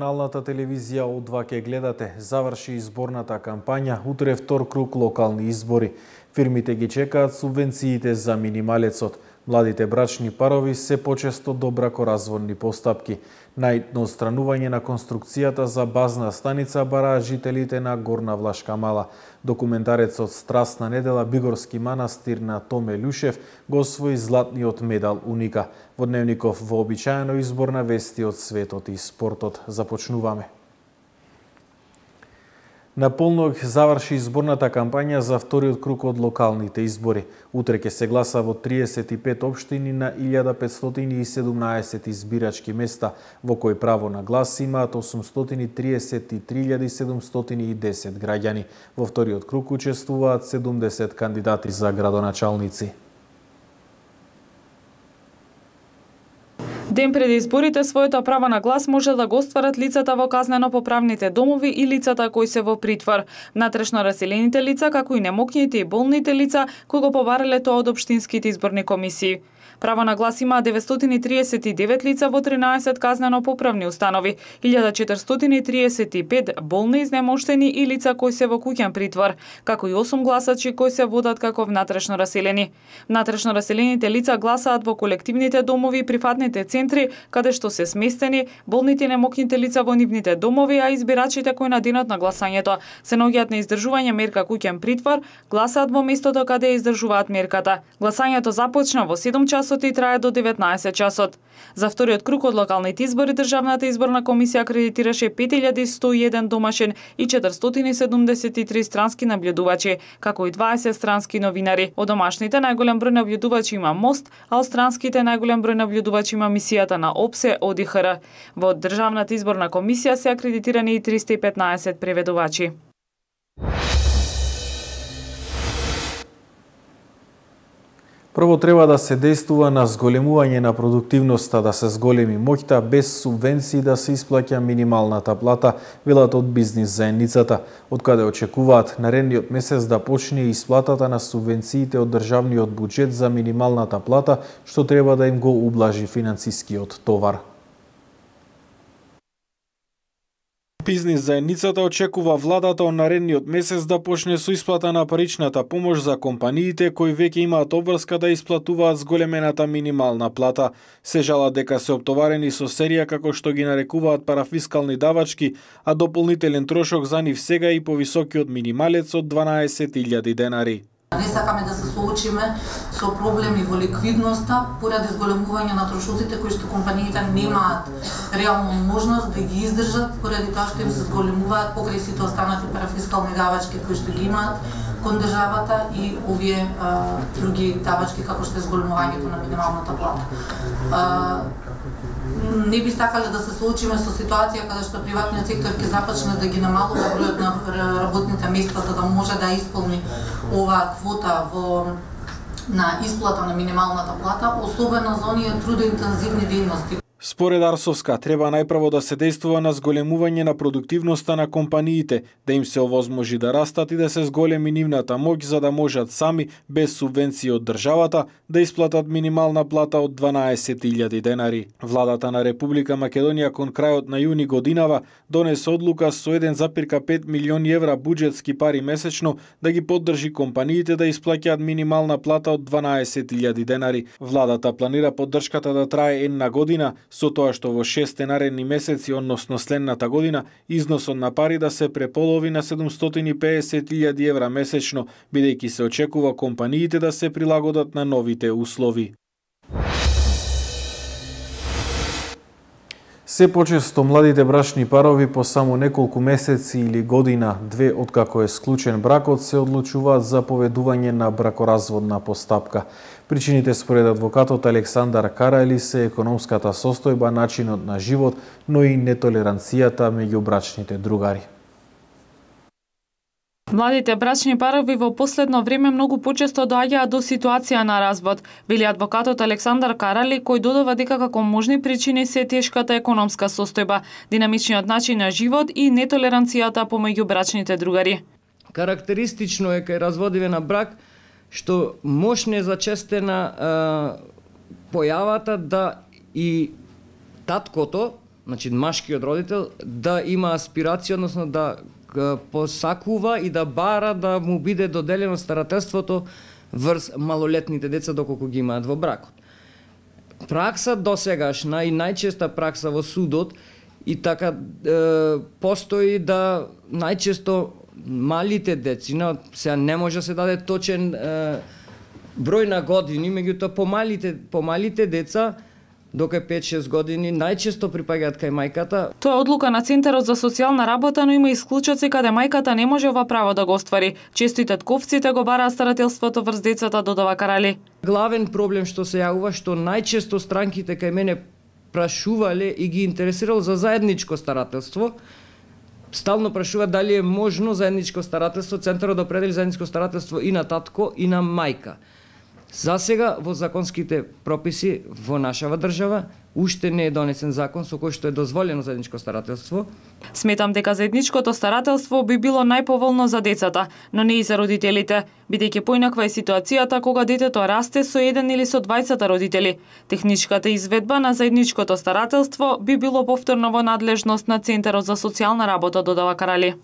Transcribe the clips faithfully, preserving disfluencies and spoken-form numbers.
регионалната телевизија О два ке гледате. Заврши изборната кампања, утре втор круг локални избори. Фирмите ги чекаат субвенциите за минималецот. Младите брачни парови се почесто до бракоразводни постапки. Најдно отстранување на конструкцијата за базна станица бараат жителите на Горна Влашка Мала. Документарецот Страстна недела Бигорски манастир на Томе Љушев го освои златниот медал Уника. Во Дневников вообичаено изборна вести од светот и спортот. Започнуваме. На полног заврши изборната кампања за вториот круг од локалните избори. Утре ќе се гласа во триесет и пет општини на илјада петстотини и седумнаесет избирачки места, во кои право на глас имаат осумстотини триесет и три илјади седумстотини и десет граѓани. Во вториот круг учествуваат седумдесет кандидати за градоначалници. Ден пред изборите своето право на глас може да го остварат лицата во казнено-поправните домови и лицата кои се во притвор, внатрешно раселените лица, како и немокните и болните лица кои го побарале тоа од општинските изборни комисии. Право на глас има деветстотини триесет и девет лица во тринаесет казнено-поправни установи, илјада четиристотини триесет и пет болни, изнемоштени и лица кои се во куќен притвор, како и осум гласачи кои се водат како внатрешно раселени. Внатрешно раселените лица гласаат во колективните домови и прифатните центри, каде што се сместени болните и немокните лица во нивните домови, а избирачите кои на денот на гласањето се наоѓаат на издржување мерка куќен притвор, гласаат во местото каде ја издржуваат мерката. Гласањето започна во седум часот и трае до деветнаесет часот. За вториот круг од локалните избори Државната изборна комисија акредитираше пет илјади сто и еден домашен и четиристотини седумдесет и три странски наблюдувачи, како и дваесет странски новинари. Од домашните најголем број наблюдувачи има МОСТ, а од странските најголем број наблюдувачи има мисијата на ОПСЕ О Д Х Р. Во Државната изборна комисија се акредитирани и триста и петнаесет преведувачи. Прво треба да се действува на зголемување на продуктивноста, да се зголеми моќта без субвенции да се исплаќа минималната плата, велат од бизнис заедницата, од каде очекуваат наредниот месец да почне исплатата на субвенциите од државниот буџет за минималната плата, што треба да им го ублажи финансискиот товар. Бизнис заедницата очекува владата од наредниот месец да почне со исплата на паричната помош за компаниите кои веќе имаат обврска да исплатуваат зголемената минимална плата. Се жалат дека се оптоварени со серија како што ги нарекуваат парафискални давачки, а дополнителен трошок за нив сега и повисокиот минималец од дванаесет илјади денари. Не сакаме да се соочиме со проблеми во ликвидноста поради зголемување на трошоците кои што компаниите немаат реално можност да ги издржат поради тоа што им се зголемуваат покрај сите останати парафискални давачки кои што ги имаат кон државата и овие а, други давачки како што е зголемувањето на минималната плата. А, не би сакале да се соочиме со ситуација каде што приватниот сектор ќе започне да ги намалува бројот на работните места за да може да исполни оваа квота во на исплата на минималната плата, особено за оние трудоинтензивни дејности. Според Арсовска, треба најпрво да се действува на зголемување на продуктивноста на компаниите, да им се овозможи да растат и да се зголеми нивната моќ за да можат сами, без субвенции од државата, да исплатат минимална плата од дванаесет илјади денари. Владата на Република Македонија кон крајот на јуни годинава донесе одлука со еден запирка пет милиони евра буџетски пари месечно да ги поддржи компаниите да исплаќаат минимална плата од дванаесет илјади денари. Владата планира поддршката да трае една година, со тоа што во шесте наредни месеци, односно следната година, износот на пари да се преполови на седумстотини и педесет илјади евра месечно, бидејќи се очекува компаниите да се прилагодат на новите услови. Се почесто младите брачни парови по само неколку месеци или година, две откако е склучен бракот, се одлучуваат за поведување на бракоразводна постапка. Причините според адвокатот Александар Карајли се економската состојба, начинот на живот, но и нетолеранцијата меѓу брачните другари. Младите брачни парови во последно време многу почесто доаѓаат до ситуација на развод, вели адвокатот Александар Карали, кој додава дека како можни причини се тешката економска состојба, динамичниот начин на живот и нетолеранцијата помеѓу брачните другари. Карактеристично е кај разводиве на брак што мощно е зачестена а, појавата да и таткото значи машкиот родител, да има аспирација, односно да посакува и да бара да му биде доделено старателството врз малолетните деца доколку ги имаат во бракот. Пракса досегашна и најчеста пракса во судот и така е, постои да најчесто малите децина, сега не може да се даде точен е, број на години, меѓутоа помалите помалите деца дока пет-шест години најчесто припаѓаат кај мајката. Тоа е одлука на Центарот за социјална работа, но има исклучоци каде мајката не може ова право да го оствари. Често и татковците го бараат старателството врз децата, додава Карали. Главен проблем што се јавува, што најчесто странките кај мене прашувале и ги интересирало за заедничко старателство. Стално прашуваат дали е можно заедничко старателство, Центарот да определи заедничко старателство и на татко и на мајка. За сега во законските прописи во нашава држава уште не е донесен закон со кој што е дозволено заедничко старателство. Сметам дека заедничкото старателство би било најповолно за децата, но не и за родителите, бидејќи поинаква е ситуацијата кога детето расте со еден или со двајцата родители. Техничката изведба на заедничкото старателство би било повторно во надлежност на Центарот за социјална работа, додава Карали.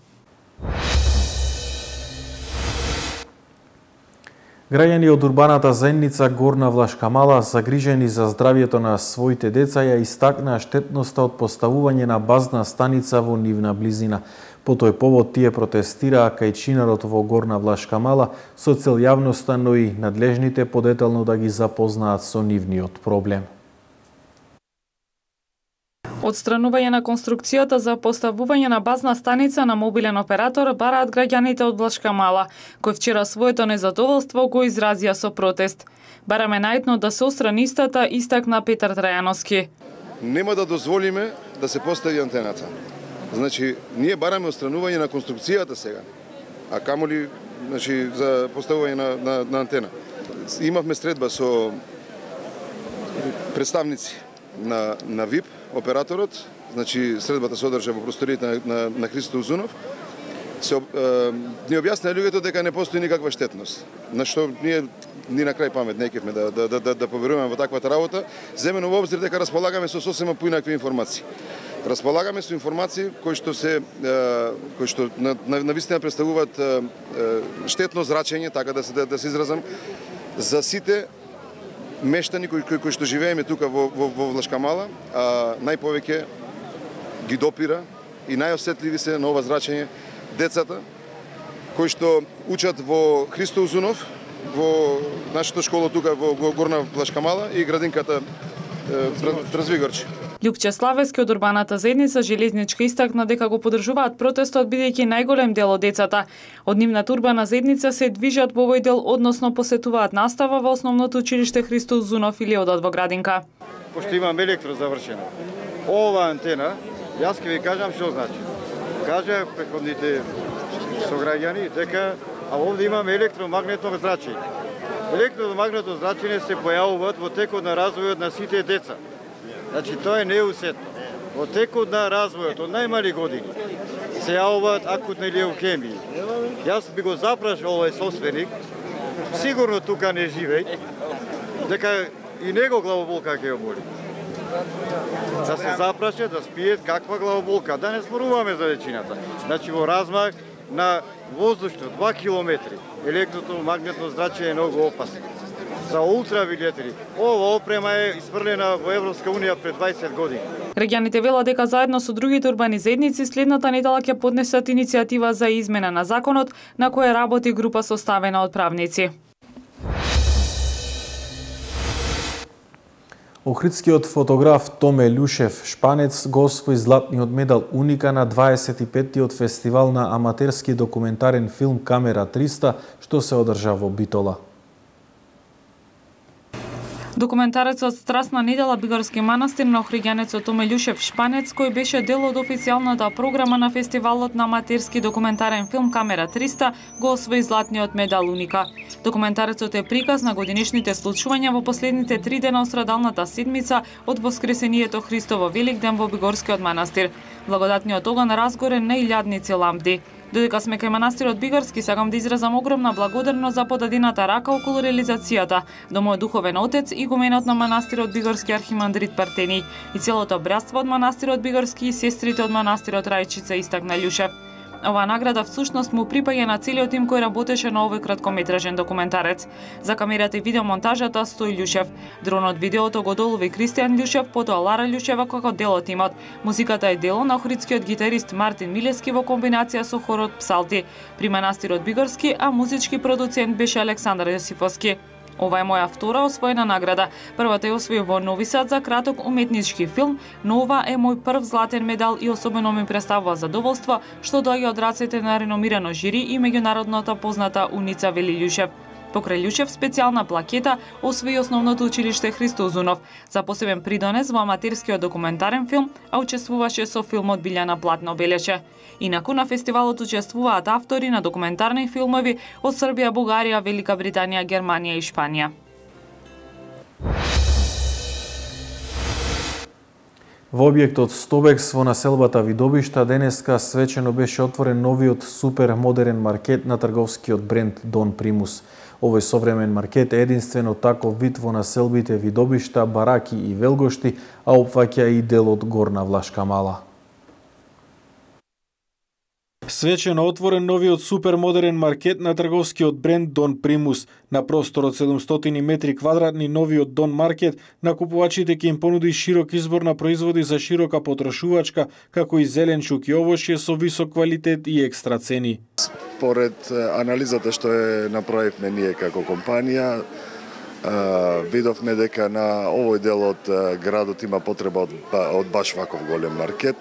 Граѓани од урбаната заедница Горна Влашка Мала, загрижени за здравјето на своите деца, ја истакнаа штетноста од поставување на базна станица во нивна близина. По тој повод тие протестираа кај чинарот во Горна Влашка Мала со цел јавноста, но и надлежните подетелно да ги запознаат со нивниот проблем. Отстранување на конструкцијата за поставување на базна станица на мобилен оператор бараат граѓаните од Влашка Мала, кои вчера своето незадоволство го изразија со протест. Бараме најдно да се отстрани истата, истакна Петар Трајановски. Нема да дозволиме да се постави антената. Значи, ние бараме отстранување на конструкцијата сега, а камоли значи, за поставување на, на, на антена. Имавме средба со представници на, на ВИП, операторот, значи средбата се одржа во просториите на, на, на Христо Узунов, се е, ни објаснаа луѓето дека не постои никаква штетност. На што ние ни на крај памет не кевме да, да, да, да поверуваме во таквата работа, земено во обзир дека располагаме со сосема поинакви информации. Располагаме со информации кои што се кои што на, на, на вистина представуваат штетно зрачење, така да се да, да се изразам, за сите мештани кои, кои, кои што живееме тука во, во, во Влашка Мала, а најповеќе ги допира и најосетливи се на ова зрачење децата кои што учат во Христо Узунов, во нашата школа тука во Горна Влашка Мала и градинката Развигорче. Љупче Славески од урбаната заедница Железничка истакна дека го поддржуваат протестот бидејќи најголем дел од децата од нивната урбана заедница се движат во овој дел, односно посетуваат настава во основното училиште Христо Узунов или одат во градинка. Пошто имам електро завршено. Ова антена, јас ќе ви кажам што значи. Кажа претходните сограѓани дека а овде имаме електромагнетно зрачење. Електромагнетно зрачење се појавуваат во текот на развојот на сите деца. Значи, тоа е неусетно. Во текот на развојот, од најмали години, се јавуваат акутни леукемии. Јас би го запрашал овој собственик, сигурно тука не живеј, дека и него главоболка ќе ја боли. Да се запраше, да спиет каква главоболка, да не споруваме за вечината. Значи, во размах на воздушно два километри, електромагнетно зрачење е многу опасно. За ултравиолетри. Ова опрема е испрлена во Европска унија пред двајсет години. Граѓаните велат дека заедно со другите урбани заедници следната недела ќе поднесат иницијатива за измена на законот, на која работи група составена од правници. Охридскиот фотограф Томе Љушев Шпанец го освои златниот медал Уника на дваесет и петтиот фестивал на аматерски документарен филм Камера триста, што се одржа во Битола. Документарецот Страстна недела Бигорски манастир на охриѓанецот Томе Љушев Шпанец, кој беше дел од официјалната програма на фестивалот на аматерски документарен филм Камера триста, го освои златниот медал Уника. Документарецот е приказ на годинишните случувања во последните три дена од страдалната седмица од Воскресението Христово Великден во Бигорскиот манастир. Благодатниот оган разгоре на илјадници лампи. Додека сме кај манастирот Бигорски, сакам да изразам огромна благодарност за подадената рака околу реализацијата до мојот духовен отец и игуменот на манастирот Бигорски архимандрит Партени и целото братство од манастирот Бигорски и сестрите од манастирот Рајчица, истакна Љушев. Оваа награда всушност му припаѓа на целиот тим кој работеше на овој краткометражен документарец. За камерата и видеомонтажата стои Љушев. Дронот видеото го долови Кристијан Љушев, потоа Лара Љушева како дел од тимот. Музиката е дело на охридскиот гитарист Мартин Милески во комбинација со хорот Псалти при манастирот Бигорски, а музички продуцент беше Александар Јосифовски. Ова е моја втора освоена награда. Првата ја освоив во Нови Сад за краток уметнички филм, но ова е мој прв златен медал и особено ми представува задоволство што доаѓа од рацете на реномирано жири и меѓународната позната Уница, вели Љушев. Покрај Љушев специјална плакета освои Основното училиште Христо Узунов за посебен придонес во аматерскиот документарен филм, а учествуваше со филмот Билјана Платно, белеше. Инаку на фестивалот учествуваат автори на документарни филмови од Србија, Бугарија, Велика Британија, Германија и Шпанија. Во објектот Стобекс во населбата Видобишта денеска свечено беше отворен новиот супер модерен маркет на трговскиот бренд Дон Примус. Овој современ маркет е единствен од таков вид во населбите Видобишта, Бараки и Велгошти, а опфаќа и дел од Горна Влашка Мала. Свечено отворен новиот супермодерен маркет на трговскиот бренд Дон Примус. На простор од седумстотини метри квадратни новиот Дон маркет на купувачите ќе им понуди широк избор на производи за широка потрошувачка, како и зеленчук и овошје со висок квалитет и екстра цени. Според анализата што е направивме ние како компанија, видовме дека на овој дел од градот има потреба од, од баш ваков голем маркет.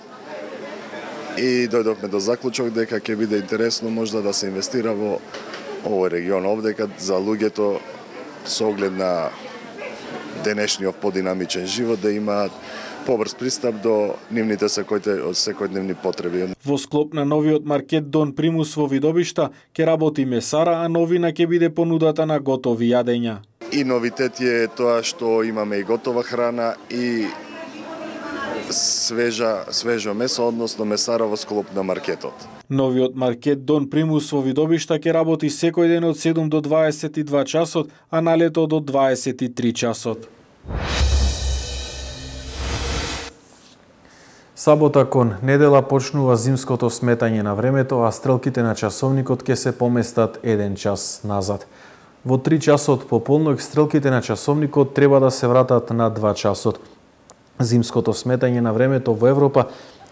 И дојдовме до заклучок дека ќе биде интересно можда да се инвестира во овој регион овдека за луѓето со оглед на денешниот подинамичен живот да имаат побрз пристап до нивните секојдневни потреби. Во склоп на новиот маркет Дон Примус во Видобишта ќе работи месара, а новина ќе биде понудата на готови јадења. И новитет е тоа што имаме и готова храна и свежа, свежо месо, односно месара во склоп на маркетот. Новиот маркет Дон Примус во Видобишта ќе работи секој ден од седум до дваесет и два часот, а на лето до дваесет и три часот. Сабота кон недела почнува зимското сметање на времето, а стрелките на часовникот ќе се поместат еден час назад. Во три часот по полнок стрелките на часовникот треба да се вратат на два часот. Зимското сметање на времето во Европа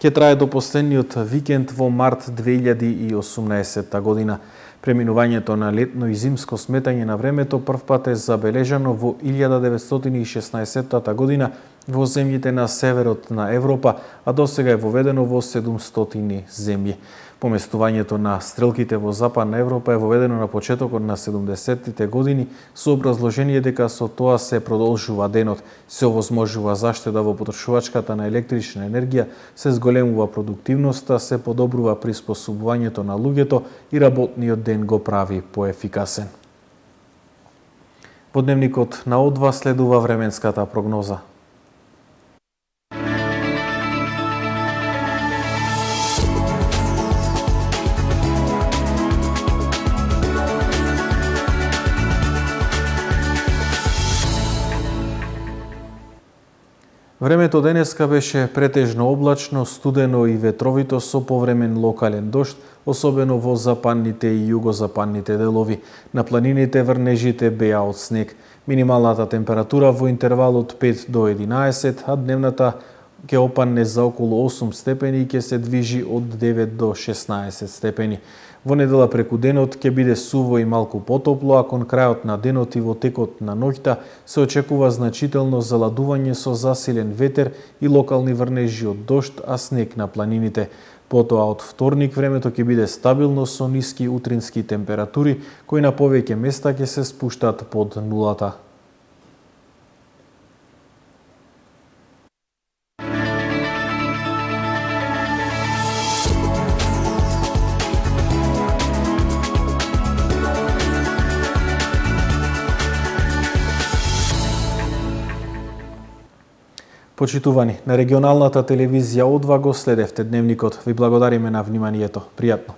ќе трае до последниот викенд во март две илјади и осумнаесетта година. Преминувањето на летно и зимско сметање на времето првпат е забележано во илјада деветстотини и шеснаесетта година во земјите на северот на Европа, а досега е воведено во седумстотини земји. Поместувањето на стрелките во Западна Европа е воведено на почетокот на седумдесеттите години со образложение дека со тоа се продолжува денот, се овозможува заштеда во потрошувачката на електрична енергија, се зголемува продуктивноста, се подобрува приспособувањето на луѓето и работниот ден го прави поефикасен. Во дневникот на О два следува временската прогноза. Времето денеска беше претежно облачно, студено и ветровито со повремен локален дожд, особено во западните и југозападните делови. На планините врнежите беа од снег. Минималната температура во интервал од пет до единаесет, а дневната ќе опадне за околу осум степени и ќе се движи од девет до шеснаесет степени. Во недела преку денот ќе биде суво и малку потопло, а кон крајот на денот и во текот на ноќта се очекува значително заладување со засилен ветер и локални врнежи од дожд, а снег на планините. Потоа од вторник времето ќе биде стабилно со ниски утрински температури, кои на повеќе места ќе се спуштат под нулата. Почитувани, на регионалната телевизија О два го следевте дневникот. Ви благодариме на вниманието. Пријатно.